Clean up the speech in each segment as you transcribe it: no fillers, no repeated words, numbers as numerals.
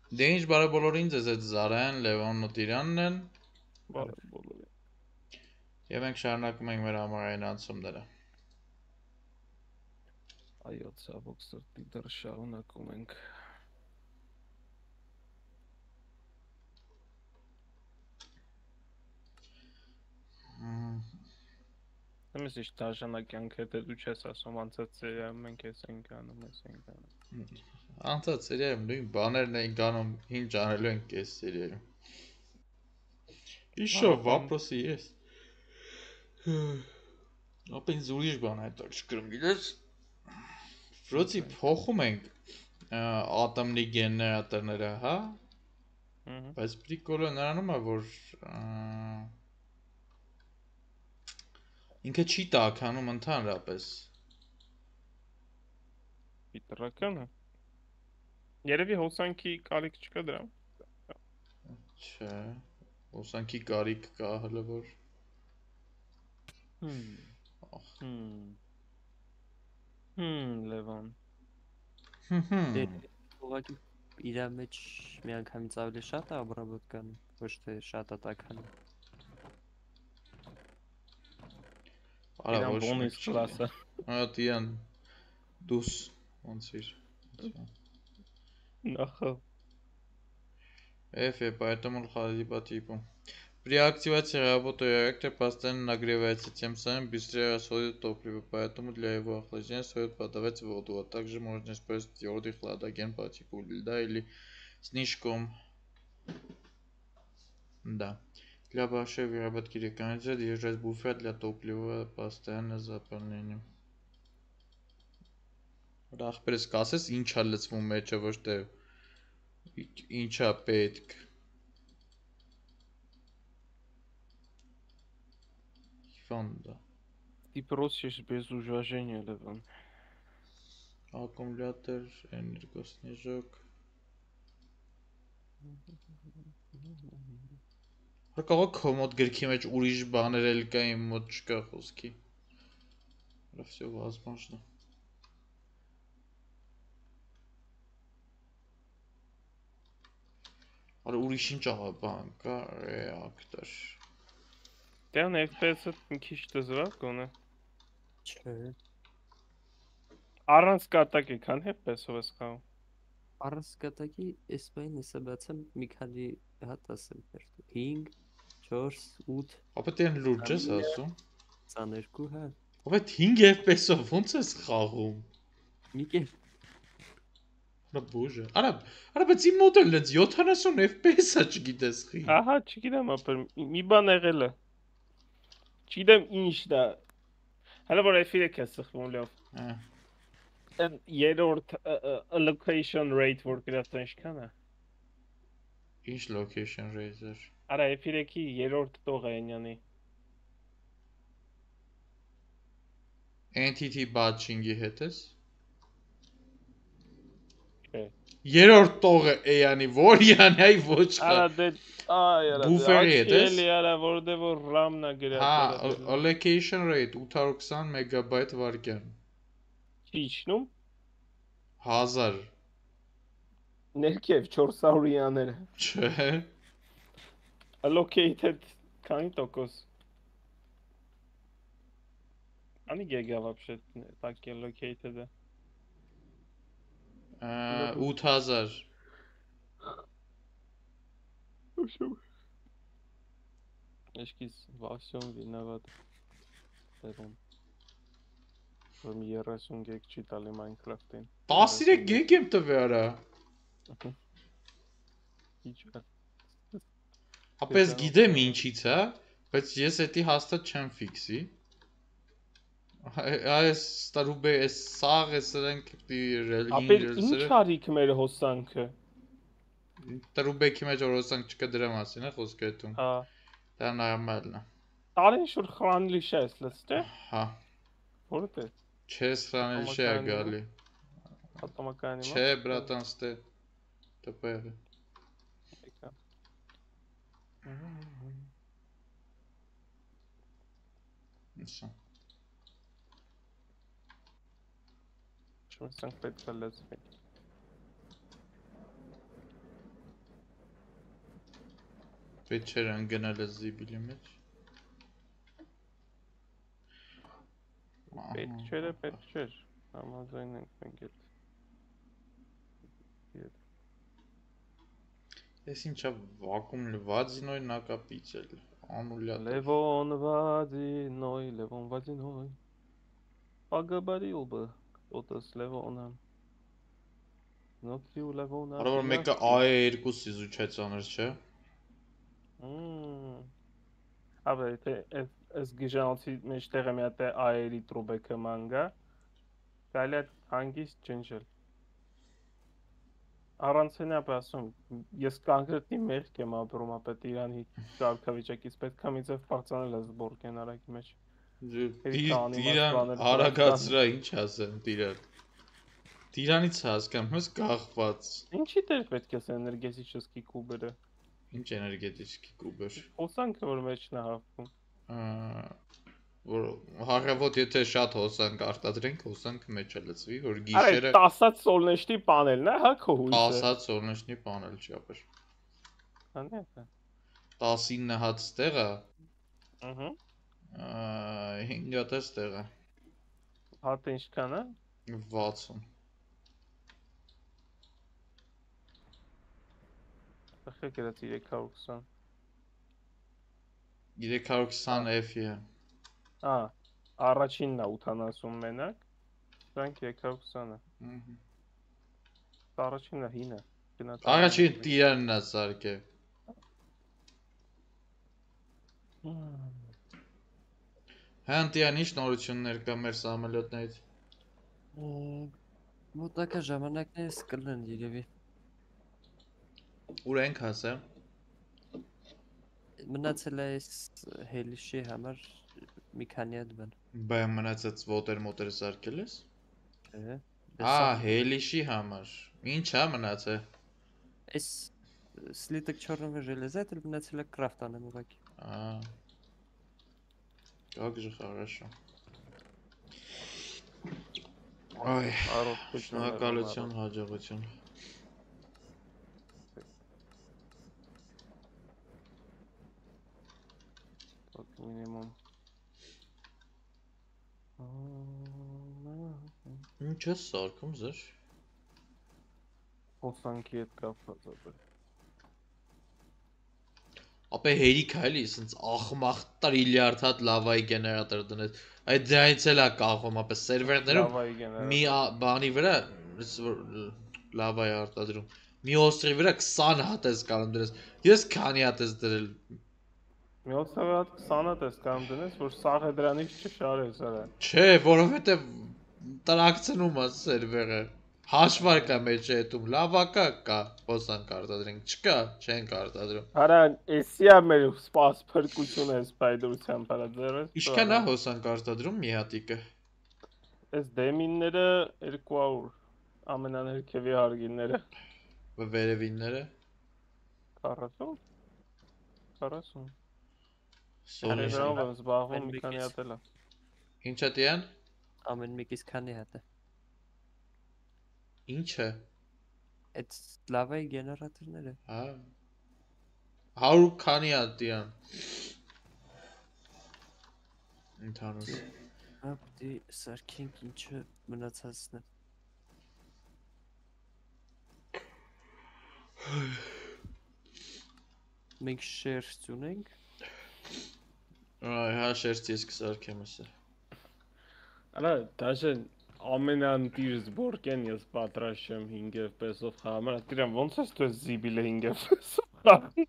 Դե ինչ բարը բոլորին ձեզ այդ Զարեն, Լևոնն ու Տիրանն են Բարև բոլորին։ եւ մենք շարունակում ենք մեր ամառային անցումները։ Այո, ցավոք սրտի դեռ շարունակում ենք։ Εμείς ինչ դաշնակյանք հետ դու չես ասում անցած սերիայում մենք էս ենք անում, էս ենք անում։ Անցած սերիայում նույն բաներն էին գանում, ինչ անելու ենք այս սերիայում։ Իշո վապրոսի ես։ Ապա ինձ ուրիշ բան հետաքրքրում գիտես։ Վրոցի փոխում ենք ատոմնի գեներատորները, հա։ Բայց պրիկոլը նրանում է, որ ինքը չի տաքանում ընդհանրապես։ Պիտրականը։ Երևի հոսանքի կարիք չկա դրա։ Չէ։ Հոսանքի կարիք կա հələ որ։ Լևոն։ Ուղղակի իր մեջ միանգամից ավելի շատ է обработкան, ոչ թե շատ է տաքանում։ Արա ոչ բոնուս կլասը։ Հա դիան դուս ոնց իր։ Ախա։ Поэтому ходили по типу. При активации работы реактора постоянно нагревается, тем самым быстрее расходует топливо, поэтому для его охлаждения стоит подавать воду, а также можно использовать твердый хладоген по типу льда или снежком. Да. Для большой выработки рекомендуется держать буфер для топлива постоянно заполнением. Ախպերս կասես ինչ է լցվում մեջը, ոչ թե ինչ է պետք։ Фонда. Ты просишь без уважения, Левон. Аккумулятор, энергоснежок. Կարող կոմոդ գրքի մեջ ուրիշ բաներ էլ կա, իմ մոտ չկա խոսքի։ Դա всё возможно. Արա ուրիշ ինչ աղա բան կա, reactor. Դեռ FPS-ը մի քիչ դժվար կոնը։ Չէ։ Առանց կատակի քան FPS-ով ես խաղում։ Առանց կատակի այս բանը հեսա բացեմ մի քանի հատ ասեմ երբ 5 4 8 Ապա դեն լուրջ ես ասում։ 22 հա։ Ապա 5 FPS-ով ոնց ես խաղում։ Մի կեր Նա բոժը։ Արա բայց իմ մոդելն է 70 FPS-ա չգիտես խի։ Ահա, չգիտեմ, ապա մի բան եղել է։ Չգիտեմ ինչ դա։ Հələ որ F3 է սխվում լավ։ Այն երրորդ allocation rate որ գրած է ինչքան է։ Ինչ location rate-ը։ Արա F3-ի երրորդ տողը այնյանի։ Entity batching-ի հետ ես։ Չէ։ Երրորդ տողը էյանի, որ յանի այ ոչ կա։ Արա դե այ արա։ Բուֆերի հետ ես։ Էլի արա որտեղ որ RAM-ն է գրած։ Հա, allocation rate 820 մեգաբայթ վարկյան։ Իջնում 1000 ներքև 400-յաները։ Չէ։ Allocated քանի տոկոս։ Անի գիգա вообще так allocated է։ 8000 Эшкис во всем виноват. Левон. Որ մի 30 գեգ չի տալի Minecraft-ին։ 13 գեգ եմ տվել արա։ Ինչ է։ Ապես գիտեմ ինչից է, բայց ես էդի հաստատ չեմ ֆիքսի։ Այս ստարուբե էս սաղ է սրանք դիրել։ Ապա ինչ արիք մեր հոսանքը։ Տարուբեքի մեջ օրոսանք չկա դրա մասին է խոսքը այդում։ Հա։ Դա նորմալն է։ Տարին շուտ խրանլի շես, լսթե։ Հա։ Որտե։ Չես խրանելի չէ գալի։ Ատոմակայանի Չէ, բրատան, ստե տպեղը։ Նսա։ Չմսանք պետք է լծվի։ Պետք չէր ընկնել է զիբիլի մեջ։ Պետք չէր, համաձայն ենք մենք այդ։ Ես ինչա վակում Վադինոյ նակապիցել, անուլյա տեղ։ Լևոն Վադինոյ, ագաբարիլ բը, օտս Լևոնը, նոտրի ու Լևոնը։ Արա որ մեկը A2 իզուչայ ծանր չէ։ Աբե, այս գիժանոցի մեջ տեղը մի հատ է A-երի տրուբեկը մանգա, գալի այդ հանգիստ ջնջել։ Առանցենա ասում, ես կոնկրետնի մեղք եմ ապրում, ապետ Իրանի կարգավիճակից պետք է մի ձև պարծանել ես բորկեն արագի մեջ։ Տիրան արագացրա ինչ ասեմ տիրան։ Տիրանից հասկամ, հենց կախված։ Ինչի դեր պետք է էներգետիկի կուբերը։ Ինչ էներգետիկի կուբեր։ Հոսանքը որ մեջն է հաղվում։ Որ հաղավոտ եթե շատ հոսանք արտադրենք, հոսանքը մեջ է լցվի, որ Արե գիշերը 10-ած սոլնեշտի պանելն է, հա քո հույսը։ 10-ած սոլնեշտի պանել չի ապեր։ Կանե՞։ 19 հատ ստեղը։ Ահա։ 5 հատ ստեղը։ Հատը ինչքան է։ 60։ Ախր գրած 320։ 320 F-ի է։ Առաջինն է 80 մենակ, դրանք 320 է։ Առաջինը հինը։ Առաջին տիրանն է սարքե։ Հանդիան ինչ նորություններ կա մեր սամոլյոտներից։ Մոտակա ժամանակներս կլեն երևի։ Ուր ենք հասել։ Մնացել է այս հելիշի համար մի քանի հատ բան։ Բայ մնացած մոտեր սարքել ես։ Չէ։ Հելիշի համար։ Ինչ է մնացել։ Այս слиток черного железа это մնացել է կրաֆտանեմ ուղղակի։ Как же хорошо։ Այ, շնորհակալություն, հաջողություն։ Minimum։ Ինչ է սարքում զեր։ Հոսանքի հետ կապված է։ Ապե հերիք է էլի, սենց ախմախ տրիլիարդ հատ լավայի գեներատոր դնես։ Այդ դրանից էլ է կախում, ապե սերվերներում մի բանի վրա լավայի արտադրում։ Մի օստրի վրա 20 հատ ես կարող դրես։ Ես քանի հատ ես դրել։ Մի օստրի վրա 20 հատ ես կարող դնես, որ սաղը դրանից չշարես արա։ Չէ, որովհետև տրակցնում է սերվերը։ Հաշվարկ է մեջ հետում, լավակա կա, հոսանք արտադրենք, չկա, չենք արտադրում։ Արա, էսի է մեր սպաս փրկությունը սպայդրության պարաձերես։ Ինչքան է հոսանք արտադրում մի հատիկը։ Այս դեմինները 200, ամենաներքևի հարգինները։ Վերևինները։ 40։ 40։ Սոլի։ Դրանով եմ զբաղվում մի քանի հատ էլ է։ Ինչա տյան։ Ամեն մեկից քանի հատ է։ Ինչ է։ Այդ լավայի գեներատորները։ 100 քանի հատ տյան։ Ընդհանուր։ Ապտի սարքենք ինչը մնացածն է։ Մենք շերտ ունենք։ Հա շերտ ես կսարքեմ ասա։ Արա, դաժե ամենանտիր զբորկեն ես պատրաստ եմ 5 FPS-ով խաղամ։ Դրան ոնց է դու զիբիլը 5 FPS-ով խաղում։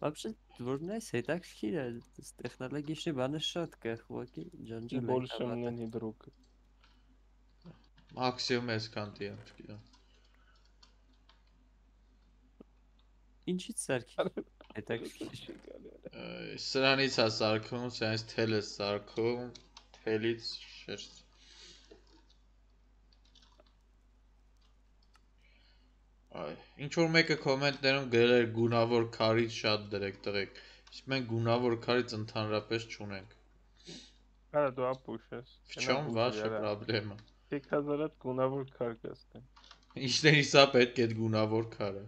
Вообще, որն է հետաքրքիր է, տեխնոլոգիչի բանը շատ կա, ուղղակի ջանջել է։ Больше мне не друг։ Մաքսիմում այսքան տիեմ, չգիտեմ։ Ինչի՞ց սարքի։ Հետաքրքիր։ Սրանից է սարքում, սրանից թել է սարքում, թելից շերտ։ Ինչ որ մեկը կոմենտներում գրել էր գունավոր քարից շատ դրեք տղեկ, իսկ մենք գունավոր քարից ընդհանրապես չունենք։ Արա դու ապուշ ես։ В чем ваша проблема։ 5000 հատ գունավոր քար կստեն։ Ինչներիս է պետք է այդ գունավոր քարը։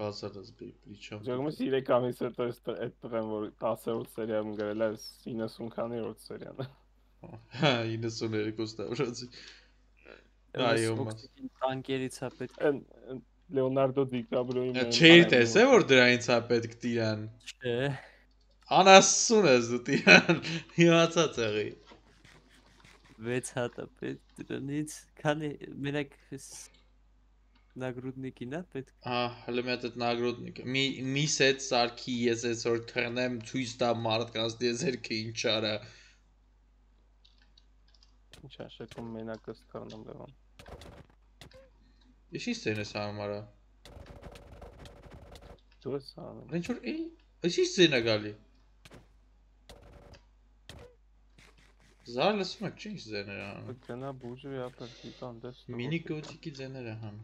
բացարած բիչամ։ Ջերմը 3 ամիս հետո այդ տղեն որ 10-րդ սերիայում գրել է 90 քանի-րդ սերիան։ Հա 92 տարածի։ Այո մաս։ Տանկերից է պետք։ Լեոնարդո դիկաբրիոյի մեմ։ Չէի տեսե որ դրանից է պետք տիրան։ Չէ։ Անասուն ես դու տիրան։ Իմացած եղի։ 6 հատ է պետք դրանից, քանի մենակ նագրուդնիկին է պետք։ Հա, հələ մի հատ այդ նագրոդնիկը։ Մի սետ սարքի ես այսօր թռնեմ ցույց տա մարդկանց դեզերքը ինչ արա։ Ինչաշեկում մենակ ըսթարնում Լևոն։ Ինչի՞ սցենա համարա։ Դու ես անում։ Ինչ որ ինչի՞ սցենա գալի։ Զար լսում եք, ինչ ձեներ անում։ Գնա բուժի ապրի տան դես։ Մինի գոտիկի ձեները հան։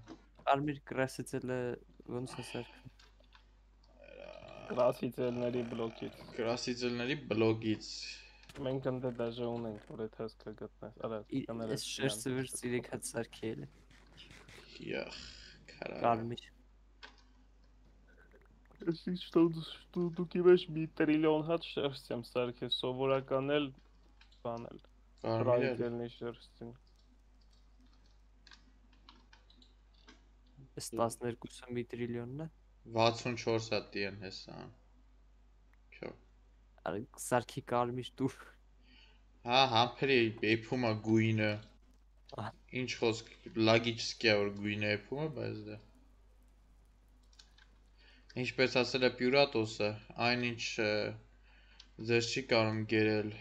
Արմիր կրասիցելը ոնց է սարքում։ Կրասիցելների բլոկից։ Կրասիցելների բլոգից։ Մենք ընդ դաժե ունենք, որ այդ հասկը գտնես։ Արա, կաները։ Այս շերտը վեր 3 հատ սարքել է։ Յախ, քարա։ Արմիր։ Ինչ դուք իվեշ մի տրիլիոն հատ շերտ եմ սարքել, սովորական էլ բանել։ Ռայտելնի շերտին։ Այս 12-ը մի տրիլիոնն է։ 64 հատ դիեն հեսա։ Քյո։ Արա սարքի կարմիր դուր։ Հա, համբերի էփումա գույնը։ Ինչ խոսք լոգիչսկի է որ գույնը էփումը, բայց դա։ Ինչպես ասել է Պյուրատոսը, այնինչ ձեզ չի կարող գերել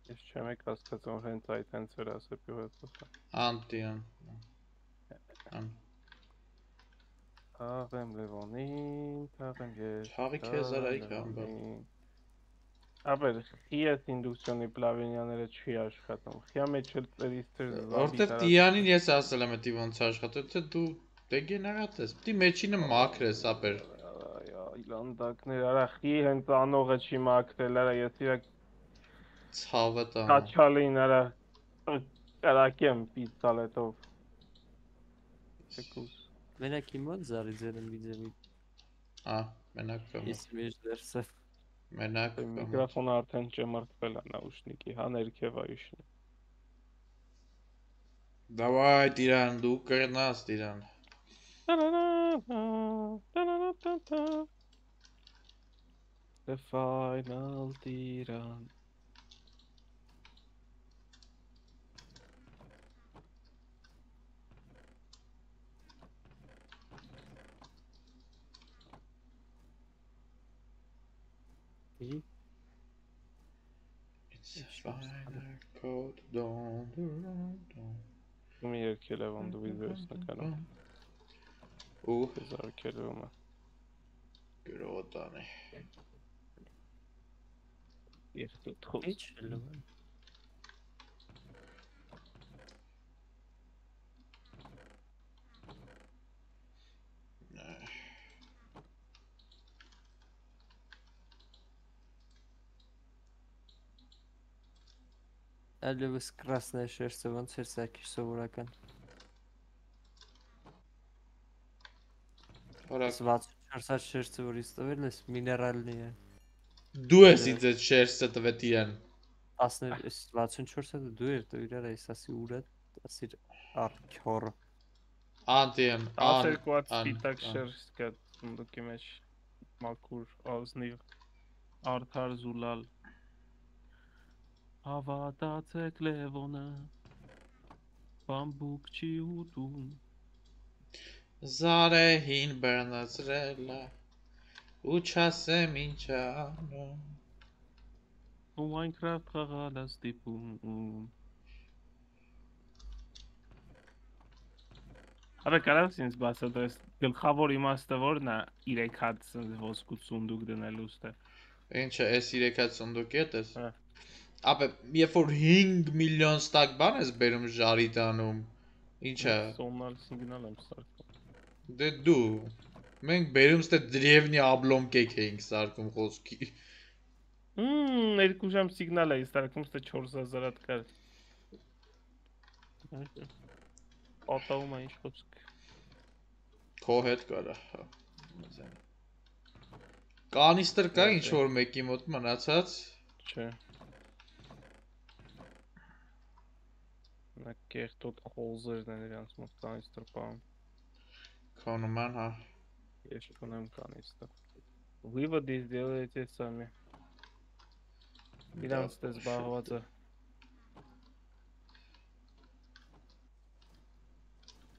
Ես չեմ եք հասկացում հենց այդ հենց էր ասել Պյուրատոսը։ Անտիան։ Թաղեմ Լևոնին, թաղեմ ես։ Թաղի քեզ արայք ամբա։ Ապեր, խիես ինդուկցիոնի պլավինյաները չի աշխատում։ Խիա մեջ էլ ծերիստեր Որտեվ Տիանին ես ասել եմ էդի ոնց աշխատում, թե դու դեգեներատ ես։ Պիտի մեջինը մաքրես, ապեր։ Իլանդակներ, արա խի հենց անողը չի մաքրել, արա ես իրա Ցավը տամ։ կաչալին, արա կարակեմ պիստալետով։ Չեկուս։ Մենակ իմ մոտ զարի ձերն վիդեոյի։ Ա, մենակ կամ։ Ես մեջ դերսը։ Մենակ։ Միկրոֆոնը արդեն ճմրթվել է նաուշնիկի, հա ներքև այշնի։ Давай, Տիրան, դու կրնաս, Տիրան։ The final Տիրան։ It's a final code, don't. Ումի երկել է ոնդ ու վիդեոս նկանում։ Ու զարկել ումը։ գրոտան է։ Երկու թոս։ Ինչ լավն։ Ալևս красная շերտը ոնց էր սարքի սովորական։ 64 շերտը որ իստվել ես միներալնի է։ Դու ես ինձ այդ շերտը տվել Տիրան։ 64-ը դու էր դու իրար այս ասի ուրը ասիր արքոր։ Անտիան, 12 հատ սպիտակ շերտ կա սունդուկի մեջ մաքուր ազնիվ արդար զուլալ Հավատացեք Լևոնը բամբուկ չի ուտում Զարեհին բռնացրել է ու չասեմ ինչ անում ու Minecraft խաղալ է ստիպում Արա կարաս ինձ բացել դες գլխավոր իմաստը որն է 3 հատ ոսկու սունդուկ դնելու ստե Ինչը էս 3 հատ սունդուկի է տես Ապե երբ որ 5 միլիոն ստակ բան ես բերում ժարի տանում Ինչ է Սոնալ սիգնալ եմ սարքում Դե դու Մենք բերում ստե դրևնի աբլոմկեկ էինք սարքում խոսքի Երկու ժամ սիգնալ էի սարքում ստե 4000 հատ կար Պատահում է ինչ խոսք Քո հետ կարա, հա։ Կանիստր կա ինչ որ մեկի մոտ մնացած։ Չէ։ Նա կեղտոտ խոզերն են իրանց մոտ կանիստր պահում։ Քո նման, հա։ Ես ունեմ կանիստր։ Վիվը դիզդելետ է սամի։ Իրանց դες զբաղված է։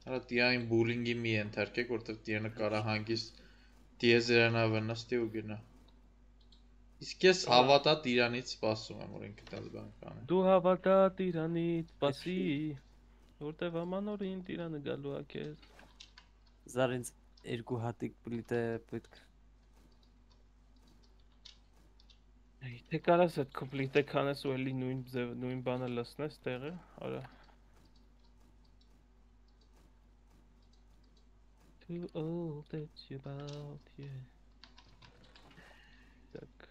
Արա տիային բուլինգի մի ենթարկեք, որտեղ տիանը կարա հանգիստ դիեզերանա վնստի ու գնա։ Իսկ ես հավատա տիրանից սպասում եմ, որ ինքը տես բան կանի։ Դու հավատա տիրանից սպասի, որտև ամանորին տիրանը գալու է քեզ։ Զարինց երկու հատիկ պլիտե պետք։ Թե կարաս այդ կոմպլիտը կանես ու էլի նույն բանը լսնես տեղը, արա։ Too old that you about, yeah. Так.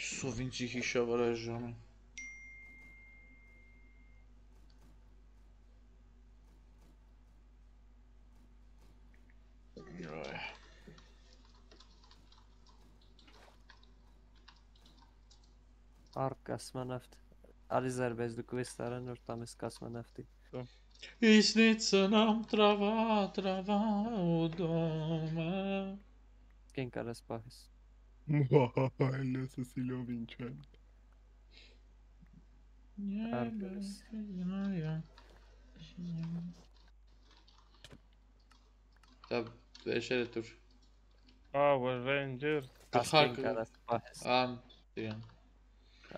Սովինցի հիշավար այս ժամին։ Արկ կասմանավտ։ Ալիզար բեզ դու կվես տարան որ տամես կասմանավտի։ И снится нам трава, трава у дома։ Կեն կարաս պահես։ Լսը սիլով ինչ են։ Դա վերջերը դուր։ Power Ranger։ Կեն կարաս պահես։ Ան, դիան։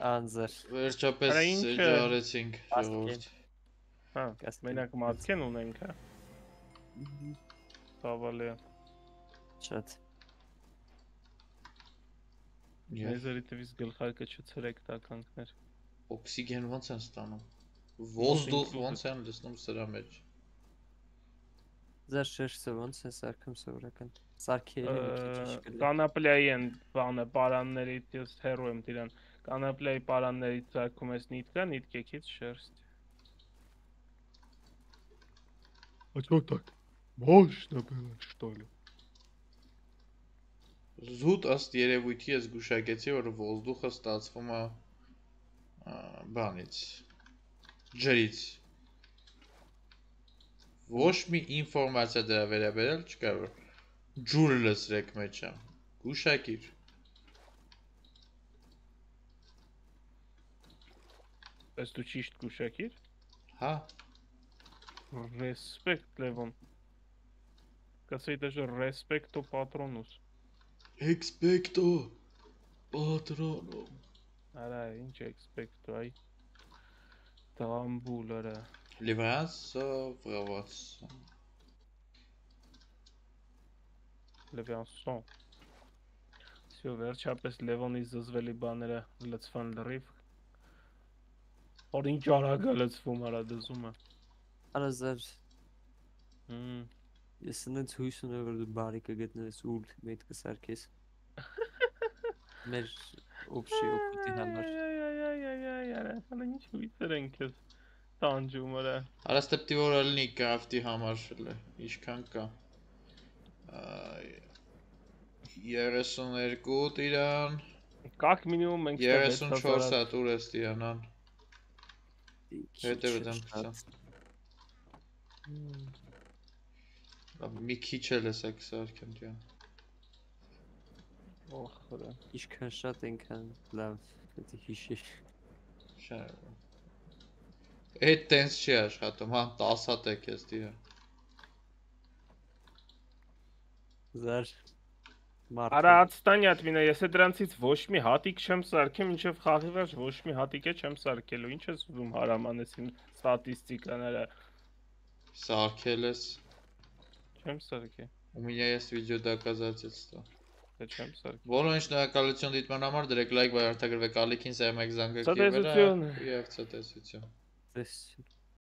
Անձր։ Վերջապես ջարեցինք ժողովուրդ։ Հա, մենակ մատքեն ունենք, հա։ Ցավալի է։ Շատ։ Եզերիտվից գլխարկը չցրեք տականքներ։ Օքսիգեն ոնց են ստանում։ Ոздух ոնց են լցնում սրա մեջ։ Ձեր շերտը ոնց է սարքում սովորական։ Սարքերը մի քիչ կլի։ Կանապլայի են բանը պարաններից ես հերո եմ դրան։ Կանապլայի պարաններից սարքում ես նիտկա, նիտկեքից շերտ։ А чё так? Мощно было, что ли? Զուտ ըստ երևույթի ես գուշակեցի, որ ոздуխը ստացվում է բանից, ջրից։ Ոչ մի ինֆորմացիա դրա վերաբերյալ չկա, որ ջուր լսրեք մեջը։ Գուշակիր։ Ըստ դու ճիշտ գուշակիր։ Հա։ Respect, Levon. Կասեի դաժե respecto patronus։ Expecto patronum։ Արա, ինչ expecto, այ։ Տամբուլ, արա։ Լիվանսը, վրավացը։ Լևյանսոն։ Սյո վերջապես Լևոնի զզվելի բաները լծվան լրիվ։ Որ ինչ արագ է լծվում արա դզումը։ Արա զար։ Ես ինձ հույս ունեմ որ դու բարի կգտնես ու մեծ կսարքես։ Մեր օբշի օգուտի համար։ Արա, ինչ հույսեր են քեզ տանջում արա։ Արա ստեպտի որ ելնի կրաֆտի համար ինչքան կա։ 32 տիրան։ Կակ մինիմում մենք 34 հատ ուր ես տիրանան։ Հետևը դեմ փսա։ Մի քիչ էլ ես եք սարքեմ տիան։ Օխ, արա։ Ինչքան շատ ենքան լավ պետք է հիշի։ Շա։ Այդ տենց չի աշխատում, հա 10 հատ եք ես տիրան։ Զար Արա ատստանյատ մինա, ես է դրանցից ոչ մի հատիկ չեմ սարքեմ, ինչև խաղի վերջ ոչ մի հատիկ է չեմ սարքելու, ինչ ես ուզում հարամանեսին ստատիստիկաները։ Սարքել ես։ Չեմ սարքել։ У меня есть видеодоказательства։ Դե չեմ սարքել։ Որոնց շնորհակալություն դիտման համար դրեք լայք, վայ արտագրվեք ալիքին սայմեք զանգակի վրա։ Ցտեսություն։ Եվ ցտեսություն։ Տեսություն։